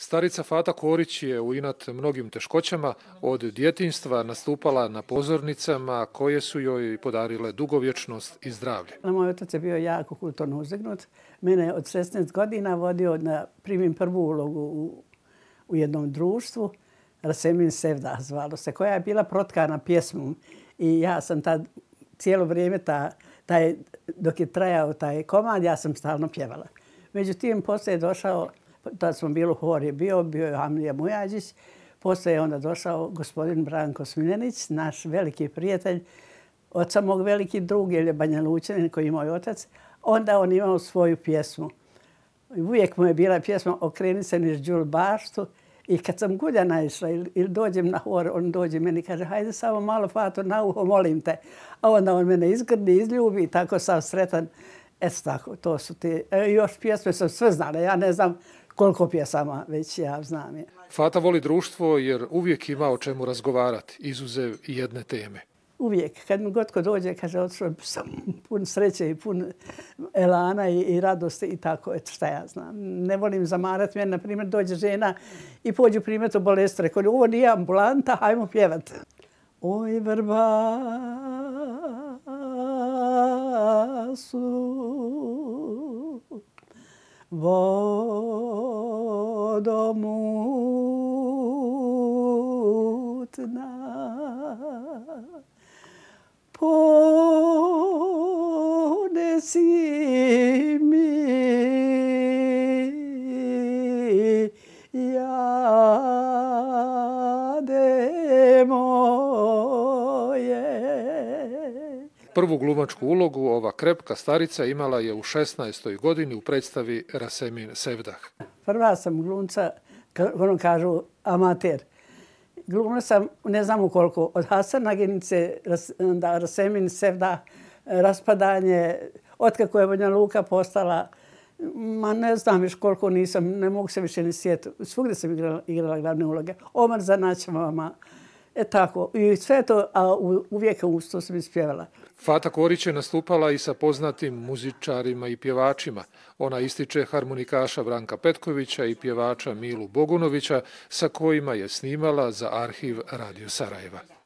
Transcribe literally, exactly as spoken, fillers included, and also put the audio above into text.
Starica Fata Korić je u inat mnogim teškoćama od djetinjstva nastupala na pozornicama koje su joj podarile dugovječnost i zdravlje. Moj otac je bio jako kulturno uzegnut. Mene je od šesnaest godina vodio da primim prvu ulogu u, u jednom društvu, Rasemin Sevdah zvalo se, koja je bila protkana pjesmom. I ja sam tad cijelo vrijeme, ta, taj, dok je trajao taj komad, ja sam stalno pjevala. Međutim, poslije je došao, tad smo bili u hori, bio, bio je Hamlija Mujađić, poslije je onda došao gospodin Branko Smiljanić, naš veliki prijatelj, oca mog veliki drug, jer je Banja Lučanin koji je moj otac. Onda on imao svoju pjesmu. Uvijek mu je bila pjesma Okreni se niz Đul baštu. I kad sam gulja naišla ili, ili dođem na hor, on dođe meni i kaže hajde samo malo Fato na uho, molim te. A onda on mene izgrdi, izljubi i tako sam sretan. Eto tako, to su ti. E, još pjesme sam sve znala. Ja ne znam koliko pjesama već ja znam. Je. Fata voli društvo jer uvijek ima o čemu razgovarati, izuzev jedne teme. Uvijek. Kad mi god ko dođe, kaže, otišao sam pun sreće i pun elana i, i radosti i tako, eto šta ja znam. Ne volim zamarati. Meni, na primjer, dođe žena i pođu primjer u bolest. Rekao, ovo nije ambulanta, hajmo pjevati. Oj, vrba su vodomutna, ponesi mi jade moje. Prvu glumačku ulogu ova krepka starica imala je u šesnaestoj godini u predstavi Rasemin Sevdah. Prva sam glumca, ono kažu, amater. Glumila sam, ne znam koliko, od Hasanaginice, da Rasemin Sevdah, Raspadanje, otkako je Banja Luka postala, ma ne znam još koliko nisam, ne mogu se više ni sjetiti. Svugdje sam igrala, igrala glavne uloge. Omar za Naćamama, e tako. I sve to, a uvijek uz to sam ispjevala. Fata Korić je nastupala i sa poznatim muzičarima i pjevačima. Ona ističe harmonikaša Branka Petkovića i pjevača Milu Bogunovića, sa kojima je snimala za arhiv Radio Sarajeva.